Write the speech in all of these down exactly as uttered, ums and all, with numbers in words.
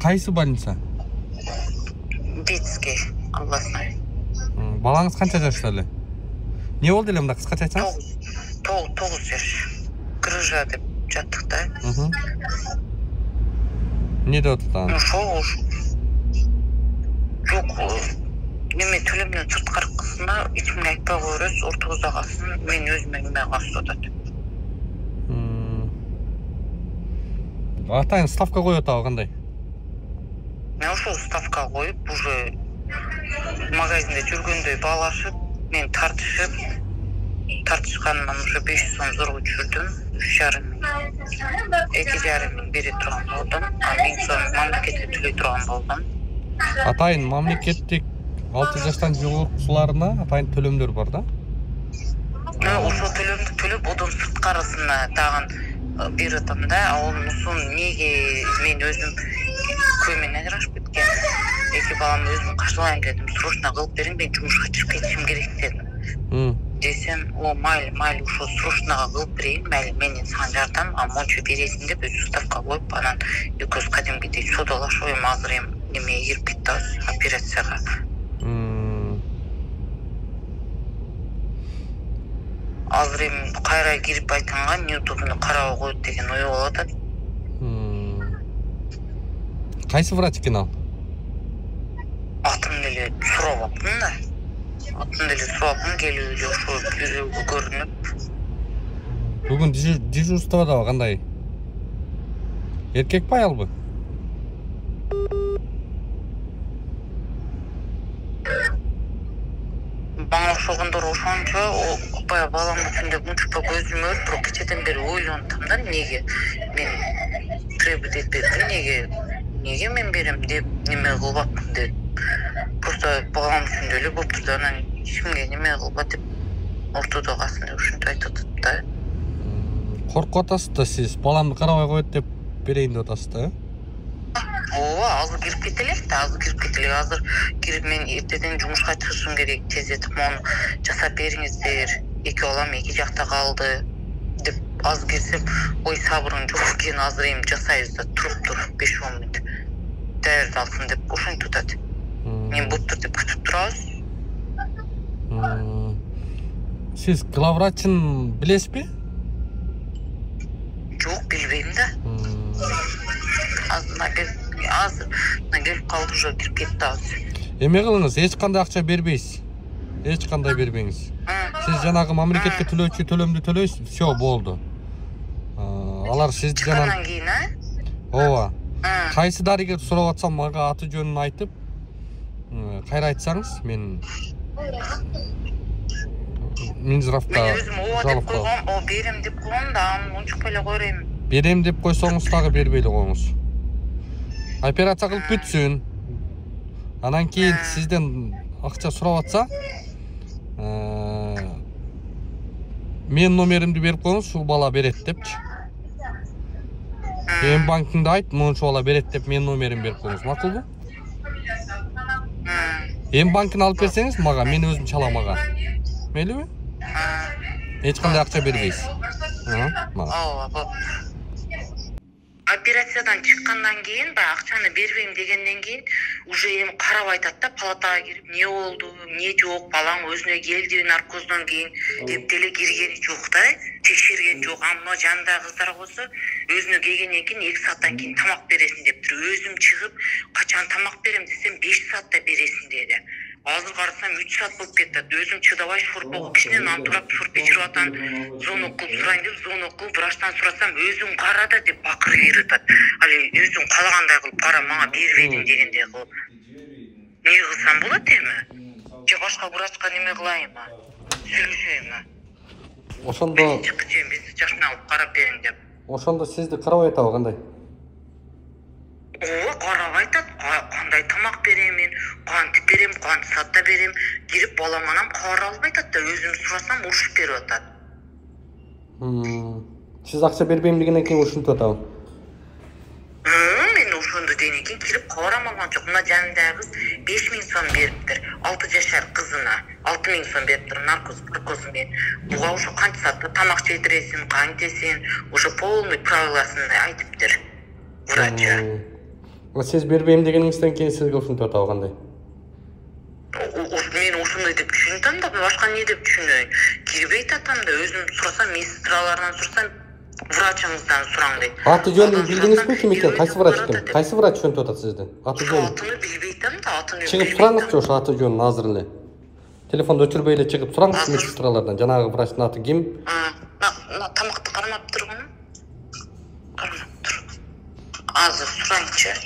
Кайсы больница? Детский, областной. Балаңыз канча жашта эле? Не болду эле мында кыскача айтсаңыз? Тогуз жаш. Грыжа деп жаттык да. Не деп атат? Ошол. Жок. Неме төлөмдөн сырткаркысына эч кимге айтпай коербиз, ортогуз агасын мен өзүмө неме кылып атат. Атайын ставка коюп атабы кандай? Мен ошол ставка коюп, уже магазинде жүргөндөй баалашып, мен тартышып, тартышкандан уже беш жүз сом зорго түшүрдүм. үч жарым миң, эки жарым миң бере турган болдум. А миң сом мамлекетке төлөй турган болдум. Атайын мамлекеттик алты жаштан жогорусуларына атайын төлөмдөр бар да? Ошол төлөмдү төлөп, одон сырткарысына тагын берип атам да. Анусун неге мен өзүм көймөн ажырашып кеткен. Эки баламды өзүм каршылайын дедим. Срочно кылып бериң, мен жумушка чыгып кетишим керек дедим. Десем, о, майли, майли, ошо срочно кылып берейин, майли, мен сага жардам, а мончу бересиң деп өзү ставка коюп, анан экөөбүз кадимкидей содалашып, эми азыр эми немеге кирип кеттибиз, операцияга. Азыр эми кайра кирип айтганга неудобно карабай коет деген ой болуп атат. Кайсы врач экен ал? Атын деле сурап аптым да. Атын деле сурап аптым, келип эле ошо бирөөгө көрүнүп. Бүгүн дежурстводабы кандай? Эркекпи аялбы? Бана ошогондор ошончо, баягы баламды түндө мынча көзүм өрүп, бирок кечеден бери ойлонтам да, неге мен требовать этпедим, неге неге мен берем деп неме кылып атпын деп. Просто балам үчүн деле болуптур да, анан эч кимге неме кылбат деп ортодо калсын деп ушинтип айтып атат да. Коркуп атасыз да сиз, баламды карабай коет деп берейин деп атасыз да? Ооба, азыр кирип кетелек да, азыр кирип кетелек, азыр кирип мен эртеден жумушка чыгышым керек, тездетип мону жасап бериңиздер. Эки балам эки жакта калды деп азыр кирсем, ой сабырың жок экен, азыр эми жасайбыз да, туруп тур беш он мүнөт. Даярдалсын деп ошентип атат. Мен болуптур деп күтүп турабыз. Сиз главврачын билесизби? Жок, билбейм да. Азыр азыр келип калды, уже кирип кетти азыр. Эме кылыңыз, эч кандай акча бербейсиз. Эч кандай бербеңиз. Сиз жанагы мамлекетке төлөөчү төлөмдү төлөйсүз, всё болду. Алар сиз жанагы кийин, а? Ооба. Кайсы дарыгер сурап атсам, мага аты жөнүн айтып, кайра айтсаңыз, мен Минздравда мен өзүм ооба деп койгом, о берем деп койгом да, аны унчукпай эле койройм. Берем деп койсоңуз дагы бербей эле коюңуз. Операция кылып бүтсүн. Анан кийин сизден акча сурап атса, мен номеримди берип коюңуз, ушул бала берет депчи. Эм банкиңди айт, мончу бала берет деп мен номерин берип коюңуз, макулбу? Эм банкын алып берсеңиз мага, мен өзүм чалам ага. Мейлиби? Эч кандай акча бербейсиз. Ооба. Операциядан чыккандан кийин, баягы акчаны бербейм дегенден кийин, уже эми карап айтат да, палатага кирип, не болду, эмне жок, балаң өзүнө келди наркоздон кийин деп деле киргени жок да, текшерген жок. Амма жанындагы кыздар болсо, өзүнө келгенден кийин эки сааттан кийин тамак бересиң дептир. Өзүм чыгып, качан тамак берем десем, беш саатта бересиң деди. Азыр карасам үч саат болуп кетти. Өзүм чыдабай шорпого кичинен антурап шорпо ичип атам. Звонок кылып сурайын деп, звонок кылып врачтан сурасам, өзүң кара да деп бакырып берип атат. Али өзүң каалагандай кылып кара, мага бербедиң дегендей кылып. Не кылсам болот эми? Же башка врачка неме кылайынбы? Сүйлөшөйүнбү? Ошондо биз жашына алып карап бериң деп. Ошондо сизди карабай атабы кандай? Ооба, карабай атат. Кандай тамак берем мен, кантип берем, канча саатта берем, кирип балам анан кабар албай атат да, өзүм сурасам урушуп берип атат. Сиз акча бербейм дегенден кийин ушинтип атабы? Мен ошондо дегенден кийин кирип кабар алмаган жок. Мына жанындагы кыз беш миң сом бериптир. алты жашар кызына алты миң сом бериптир, наркоз, наркозун мен. Буга ошо канча саатта тамак жедиресиң, кантесиң, ошо полный правиласын айтыптыр врачы. Сиз бербейм дегениңизден кийин сизге ушинтип атабы кандай? Мен ошондой деп түшүнөм да, башка эмне деп түшүнөйүн? Кирбейт атам да, өзүм сурасам, медсестралардан сурасам, врачыңыздан сураң дейт. Аты жөнүн билдиңизби ким экен? Кайсы врач экен? Кайсы врач түшүнтүп атат сизди? Аты жөнүн. Атыны билбейтем да, атыны. Чыгып сураңызчы ошо аты жөнүн азыр эле. Телефонду өчүрбөй эле чыгып сураңыз медсестралардан. Жанагы врачтын аты ким? На тамакты кармап тургуну. Кармап тур. Азыр сурайынчы.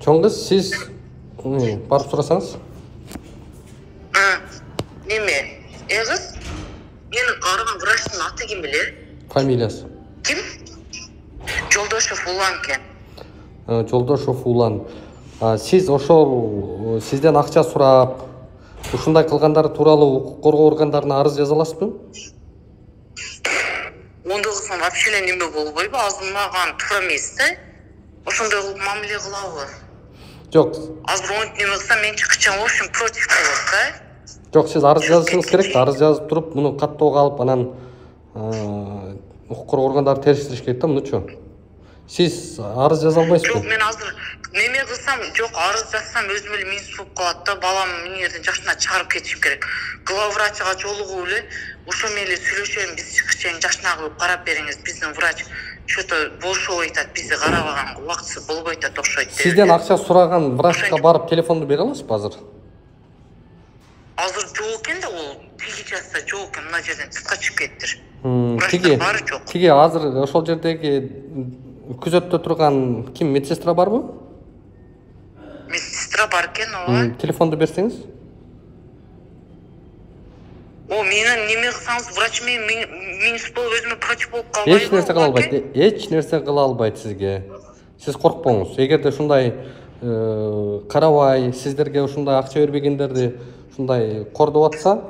Чоң кыз, сиз барып сурасаңыз? Неме? Эгиз? Менин караган врачтын аты ким билер? Фамилиясы. Ким? Жолдошов Улан экен. Жолдошов Улан. Сиз ошол сизден акча сурап, ушундай кылгандар тууралуу укук коргоо органдарына арыз жаза аласызбы? Ондой кылсам вообще эле неме болбойбу? Азыр мага туура эмес да. Ошондой кылып мамиле кылабы? Жок. Азыр онтип неме кылсам мен чыкчам, в общем, против болот да. Жок, сиз арыз жазышыңыз керек да. Арыз жазып туруп, муну каттоого алып, анан укук коргоо органдары териштириш керек да, мунучу. Сиз арыз жаза албайсызбы? Жок, мен азыр неме кылсам, жок, арыз жазсам өзүм эле минус болуп калат да. Балам мынерден жашына чыгарып кетишим керек. Главврачга жолугуп эле ошо менен эле сүйлөшөм, биз чыкчаң жашына кылып карап бериңиз. Биздин врач что-то болшобой атат, бизди карабаганга убактысы болбой атат окшойт. Сизден акча сураган врачка барып телефонду бере аласызбы азыр? Азыр жок экен да, ол тиги жазса жок экен, мына жерден сыртка чыгып кеттир. Тиги, тиги азыр ошол жердеги күзөттө турган ким, медсестра барбы? Медсестра бар экен, ооба. Телефонду берсеңиз? О, менин неме кылсаңыз, врач менен минус болуп өзүмө против болуп калбайбы? Эч нерсе кыла албайт. Эч нерсе кыла албайт сизге. Сиз коркпоңуз. Эгерде ушундай карабай, сиздерге ушундай акча бербегендерди ушундай кордоп атса,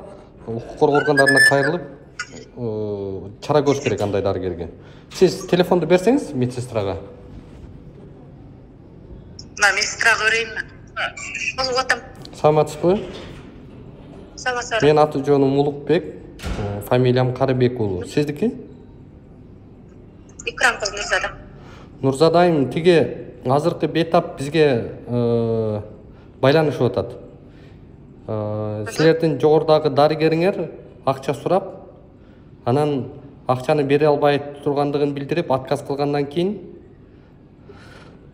укук коргоо органдарына кайрылып чара көрүш керек андай дарыгерге. Сиз телефонду берсеңиз медсестрага. На медсестрага берейинби? Алып атам. Саламатсызбы? Саламатсызбы. Мен аты жөнүм Улукбек, фамилиям Карыбек уулу. Сиздики? Икрам кызы Нурзада. Нурзадайым, тиги азыркы бетап бизге байланышып атат. Силердин жогорудагы дарыгериңер акча сурап, анан акчаны бере албай тургандыгын билдирип, отказ кылгандан кийин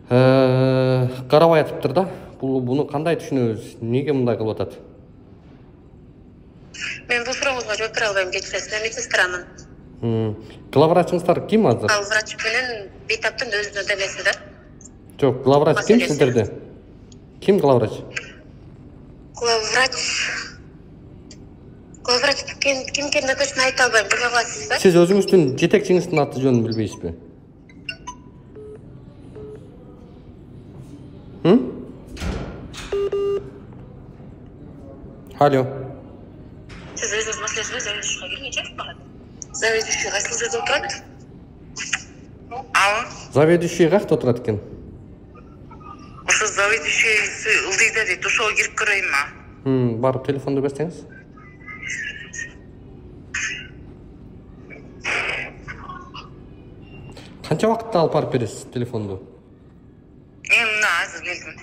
карабай атыптыр да. Буну кандай түшүнөбүз? Неге мындай кылып атат? Мен бул сурооңузга жооп бере албайм, кечиресиз, мен медсестрамын. Главврачыңыздар ким азыр? Ал врач менен бетаптын өзүнүн демеси да. Жок, главврач ким сиздерде? Ким главврач? Главврач Главврач ким экенин точно айта албайм, биле аласыз да? Сиз өзүңүздүн жетекчиңиздин аты жөнүн билбейсизби? Алло. Сиз өзүңүз маселесине заведующийга келгенче барат. Заведующий кайсы жерде отурат? Алло. Заведующий кайда отурат экен? Ошо заведующийси ылдыйда дейт, ошого кирип көрөйүнбү? Барып телефонду берсеңиз. Канча убакытта алып барып бересиз телефонду? Мен мына азыр келдим.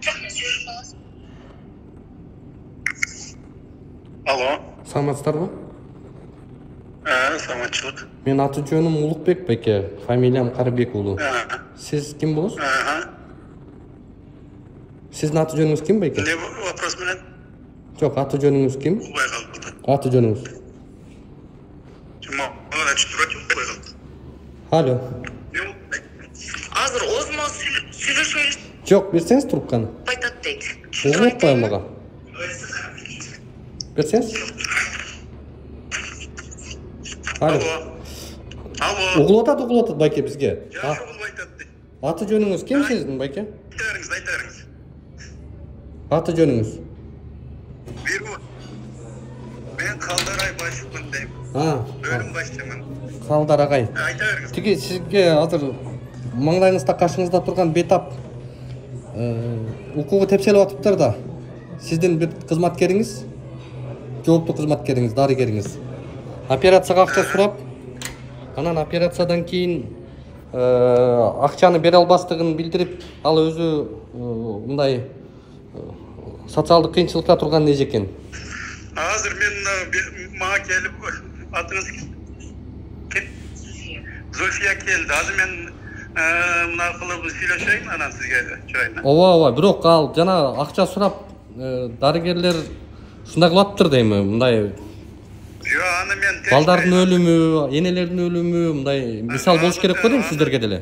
Жок, мен сүйлөшүп каласың. Алло. Саламатсыздарбы? Э, саламатчылык. Мен аты жөнүм Улукбек беке, фамилиям Карыбек уулу. Сиз ким болосуз? Сиздин аты жөнүңүз ким беке? Не вопрос менен? Жок, аты жөнүңүз ким? Укпай калдым. Аты жөнүңүз? Жума, ана чүрөт укпай калдым. Алло. Азыр озмо сүйлөшөбүз. Жок, берсеңиз трубканы. Айтат дейт. Угуп атпайм мага. Берсеңиз. Алло. Алло. Угулуп атат, угулуп атат байке бизге. Жакшы угулуп айтат дейт. Аты жөнүңүз ким сиздин байке? Айтарыңыз, айтарыңыз. Аты жөнүңүз? Биру. Мен Калдарай башчымын дейм. А. Бөлүм башчымын. Калдар агай. Айта бериңиз. Тиги сизге азыр маңдайыңызда кашыңызда турган бетап укугу тепселип атыптыр да. Сиздин бир кызматкериңиз, жооптуу кызматкериңиз, дарыгериңиз операцияга акча сурап, Анан операциядан кийин акчаны бере албастыгын билдирип, ал өзү мындай социалдык кыйынчылыкта турган эжекен. Азыр мен мага келип атыңыз Зульфия келди. Азыр мен мына кылып сүйлөшөйүн анан сизге чоюна. Ооба, ооба, бирок ал жана акча сурап дарыгерлер ушундай кылып дейми, мындай Жо, аны мен балдардын өлүмү, энелердин өлүмү мындай мисал болуш керек го дейм сиздерге деле.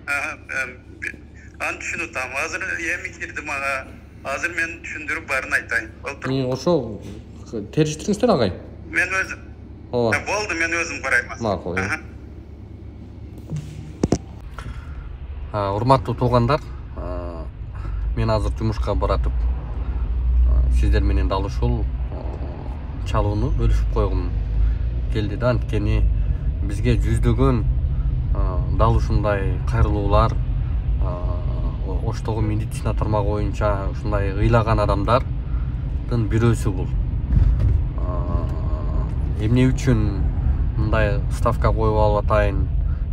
Аны түшүнүп атам. Азыр эми кирди мага. Азыр мен түшүндүрүп баарын айтайын. Болтур. Ошо териштириңиздер агай. Мен өзүм. Ооба. Болду, мен өзүм карайм. Макул. Урматтуу туугандар, мен азыр жумушка баратып, сиздер менен дал ушул чалууну бөлүшүп койгум келди да. Анткени бизге жүздөгөн дал ушундай кайрылуулар, Оштогу медицина тармагы боюнча ушундай ыйлаган адамдардын бирөөсү бул. Эмне үчүн мындай ставка коюп алып атайын,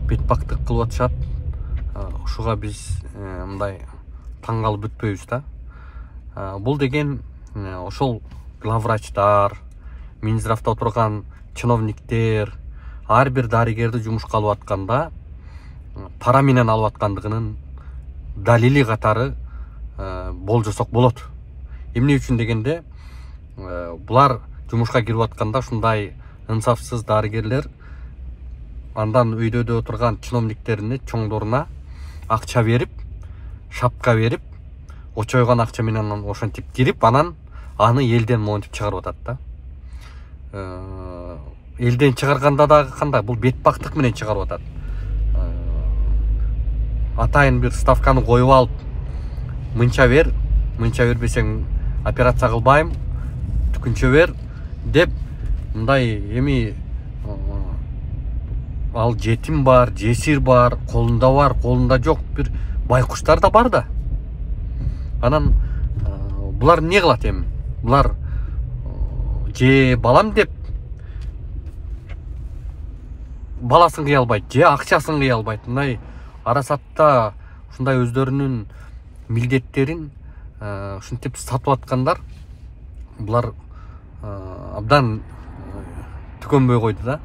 бетпактык кылып атышат? Ушуга биз мындай таң калып бүтпөйбүз да. Бул деген ошол главврачтар, Минздравда отурган чиновниктер ар бир дарыгерди жумушка алып атканда пара менен алып аткандыгынын далили катары болжосок болот. Эмне үчүн дегенде, булар жумушка кирип атканда ушундай ынсафсыз дарыгерлер андан өйдөдө отурган чиновниктерине, чоңдоруна акча берип, шапка берип, очойгон акча менен ошентип кирип, анан аны элден монтип чыгарып атат да. Элден чыгарганда дагы кандай? Бул бетпактык менен чыгарып атат. Атайын бир ставканы коюп алып, мынча бер, мынча бербесең операция кылбайм, түкүнчө бер деп, мындай эми ал жетим бар, жесир бар, колунда бар, колунда жок бир байкуштар да бар да. Анан булар эмне кылат эми? Булар же балам деп баласын кыя албайт, же акчасын кыя албайт. Мындай арасатта ушундай өздөрүнүн милдеттерин ушинтип сатып аткандар, булар абдан түкөнбөй койду да.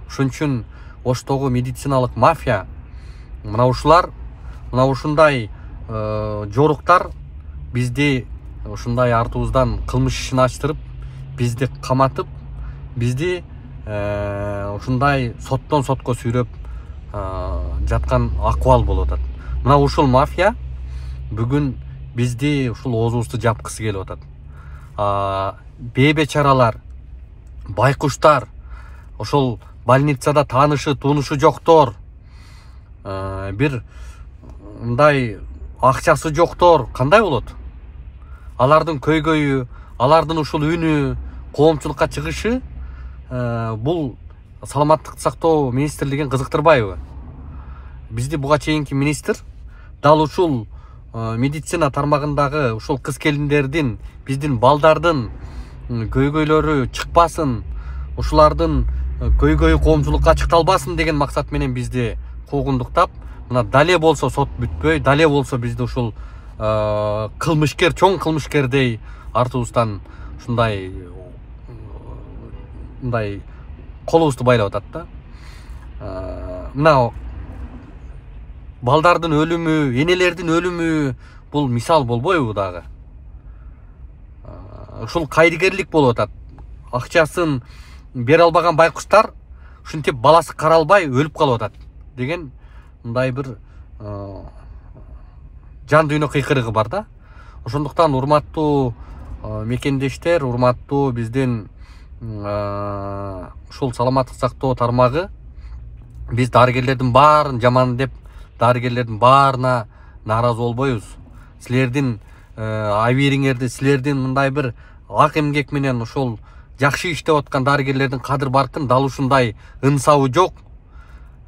Ошон үчүн Оштогу медициналык мафия, мына ушулар, мына ушундай жоруктар бизди ушундай артыбыздан кылмыш ишин ачтырып, бизди каматып, бизди ушундай соттон сотко сүйрөп жаткан акыбал болуп атат. Мына ушул мафия бүгүн бизди ушул оозубузду жапкысы келип атат. Бейбечаралар, байкуштар, ошол больницада таанышы, тунушу жоктор, бир мындай акчасы жоктор кандай болот? Алардын көйгөйү, алардын ушул үнү коомчулукка чыгышы бул саламаттыкты сактоо министрлигин кызыктырбайбы? Бизди буга чейинки министр дал ушул медицина тармагындагы ушул кыз келиндердин, биздин балдардын көйгөйлөрү чыкпасын, ушулардын көйгөйү коомчулукка ачыкталбасын деген максат менен бизди куугундуктап, мына дале болсо сот бүтпөй, дале болсо бизди ушул кылмышкер, чоң кылмышкердей артыбыздан ушундай мындай колубузду байлап атат да. Мына балдардын өлүмү, энелердин өлүмү бул мисал болбойбу дагы? Ушул кайрыгерлик болуп атат. Акчасын бере албаган байкуштар ушинтип баласы каралбай өлүп калып атат деген мындай бир жан дүйнө кыйкырыгы бар да. Ошондуктан урматтуу мекендештер, урматтуу биздин ушул саламаттык сактоо тармагы, биз дарыгерлердин баарын жаман деп, дарыгерлердин баарына нааразы болбойбуз. Силердин абийириңерди, силердин мындай бир ак эмгек менен ушул жакшы иштеп аткан дарыгерлердин кадыр баркын дал ушундай ынсабы жок,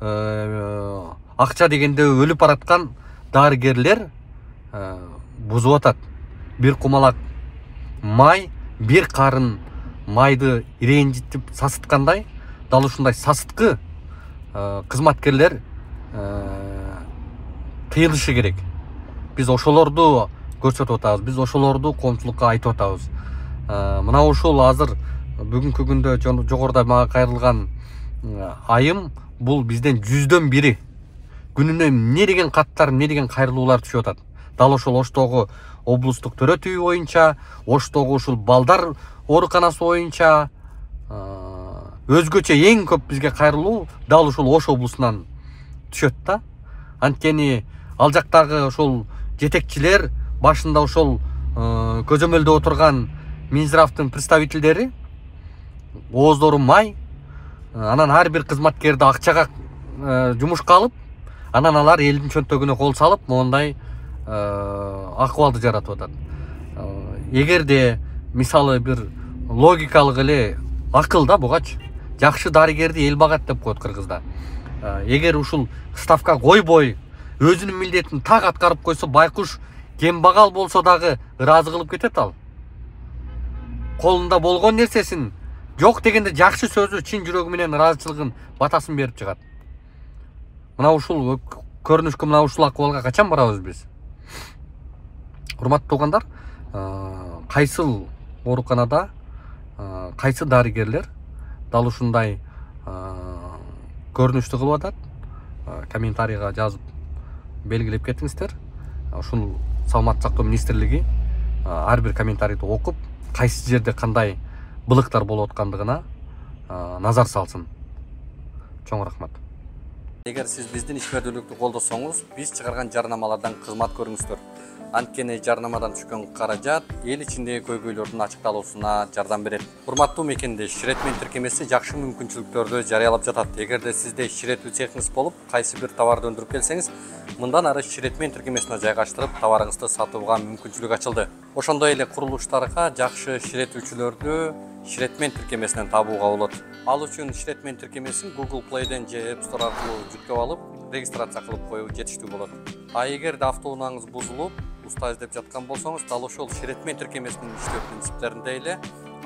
акча дегенде өлүп бараткан дарыгерлер бузуп атат. Бир кумалак май, бир карын майды иренжитип сасыткандай, дал ушундай сасыткы кызматкерлер тыйылышы керек. Биз ошолорду көрсөтүп атабыз, биз ошолорду коомчулукка айтып атабыз. Мына ушул азыр бүгүнкү күндө жогоруда мага кайрылган айым бул бизден жүздөн бири. Күнүнө эмне деген каттар, эмне деген кайрылуулар түшүп атат. Дал ошол Оштогу облустук төрөтүү боюнча, Оштогу ушул балдар ооруканасы боюнча өзгөчө эң көп бизге кайрылуу дал ушул Ош облусунан түшөт да. Анткени ал жактагы ушул жетекчилер башында ошол көзөмөлдө отурган Минздравдын представительдери ооздору май, анан ар бир кызматкерди акчага жумушка алып, анан алар элдин чөнтөгүнө кол салып, мондай акыбалды жаратып атат. Эгерде мисалы бир логикалык эле акыл да бугач, жакшы дарыгерди эл багат деп коет кыргызда. Эгер ушул ставка койбой, өзүнүн милдетин так аткарып койсо, байкуш кембагал болсо дагы ыраазы кылып кетет ал. Колунда болгон нерсесин жок дегенде жакшы сөзү, чын жүрөгү менен ыраазычылыгын, батасын берип чыгат. Мына ушул көрүнүшкө, мына ушул акыбалга качан барабыз биз? Урматтуу туугандар, кайсыл ооруканада кайсы дарыгерлер дал ушундай көрүнүштү кылып атат? Комментарийга жазып белгилеп кетиңиздер. Ушул Саламаттык сактоо министрлиги ар бир комментарийди окуп, кайсы жерде кандай былыктар болуп аткандыгына назар салсын. Чоң рахмат. Эгер сиз биздин ишмердүүлүктү колдосоңуз, биз чыгарган жарнамалардан кызмат көрүңүздөр. Анткени жарнамадан түшкөн каражат эл ичиндеги көйгөйлөрдүн ачыкталуусуна жардам берет. Урматтуу мекендеш, Ширетмен тиркемеси жакшы мүмкүнчүлүктөрдү жарыялап жатат. Эгерде сизде ширетүү цехиңиз болуп, кайсы бир товарды өндүрүп келсеңиз, мындан ары Ширетмен тиркемесине жайгаштырып, товарыңызды сатууга мүмкүнчүлүк ачылды. Ошондой эле курулуштарга жакшы ширетүүчүлөрдү Ширетмен тиркемесинен табууга болот. Ал үчүн Ширетмен тиркемесин Google Play'ден же App Store аркылуу жүктөп алып, регистрация кылып коюу жетиштүү болот. А эгерде автоунааңыз бузулуп, уста издеп жаткан болсоңуз, дал ошол Ширетмен тиркемесинин иштөө принциптеринде эле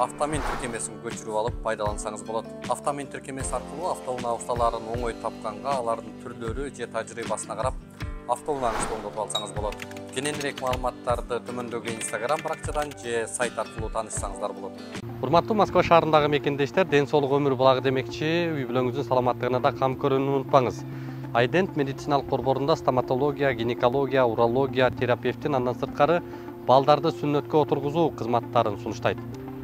автомен тиркемесин көчүрүп алып пайдалансаңыз болот. Автомен тиркемеси аркылуу автоунаа усталарын оңой тапканга, алардын түрлөрү же тажрыйбасына карап, автоунааңызды оңдотуп алсаңыз болот. Кененирээк маалыматтарды төмөндөгү Instagram баракчадан же сайт аркылуу таанышсаңыздар болот. Урматтуу Москва шаарындагы мекендештер, ден соолук өмүр булагы демекчи, үй бүлөңүздүн саламаттыгына да кам көрүүнү унутпаңыз. Айдент медициналык борборунда стоматология, гинекология, урология, терапевтин андан сырткары балдарды сүннөткө отургузуу кызматтарын сунуштайт.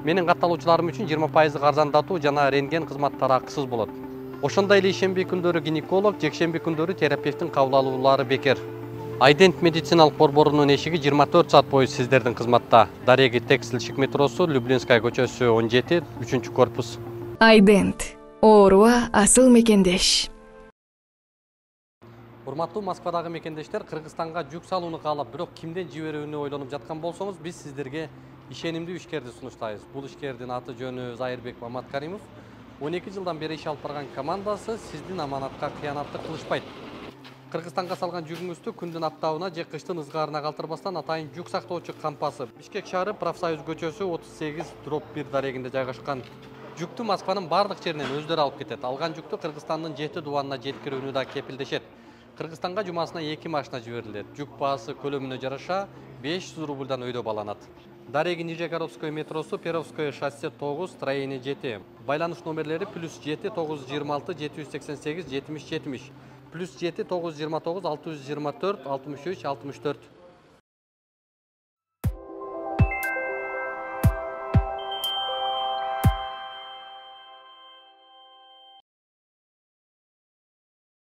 Менин катталуучуларым үчүн жыйырма пайыз арзандатуу жана рентген кызматтары акысыз болот. Ошондой эле ишемби күндөрү гинеколог, жекшемби күндөрү терапевтин кабыл алуулары бекер. Айдент медициналык борборунун эшиги жыйырма төрт саат бою сиздердин кызматта. Дареги Текстилщик метросу, Люблинская көчөсү он жети, үчүнчү корпус. Айдент. Ооруга асыл мекендеш. Урматтуу Москвадагы мекендештер, Кыргызстанга жүк салууну каалап, бирок кимден жиберүүнү ойлонуп жаткан болсоңуз, биз сиздерге ишенимдүү ишкерди сунуштайбыз. Бул ишкердин аты жөнү Зайырбек Маматкаримов. он эки жылдан бери иш алып барган командасы сиздин аманатка кыянаттык кылышпайт. Кыргызстанга салган жүгүңүздү күндүн аптабына же кыштын ызгаарына калтырбастан атайын жүк сактоочу кампасы Бишкек шаары Профсоюз көчөсү отуз сегиз дробь бир дарегинде жайгашкан. Жүктү Москванын бардык жеринен өздөрү алып кетет. Алган жүктү Кыргызстандын жети дубанына жеткирүүнү да кепилдешет. Кыргызстанга жумасына эки машина жиберилет. Жүк баасы көлөмүнө жараша беш жүз рубльдан өйдө баланат. Дареги Нижегородское метросу, Перовское шоссе тогуз, строение жети. Байланыш номерлери плюс жети тогуз жүз жыйырма алты жети жүз сексен сегиз жетимиш жетимиш, плюс жети тогуз жүз жыйырма тогуз алты жүз жыйырма төрт алтымыш үч алтымыш төрт.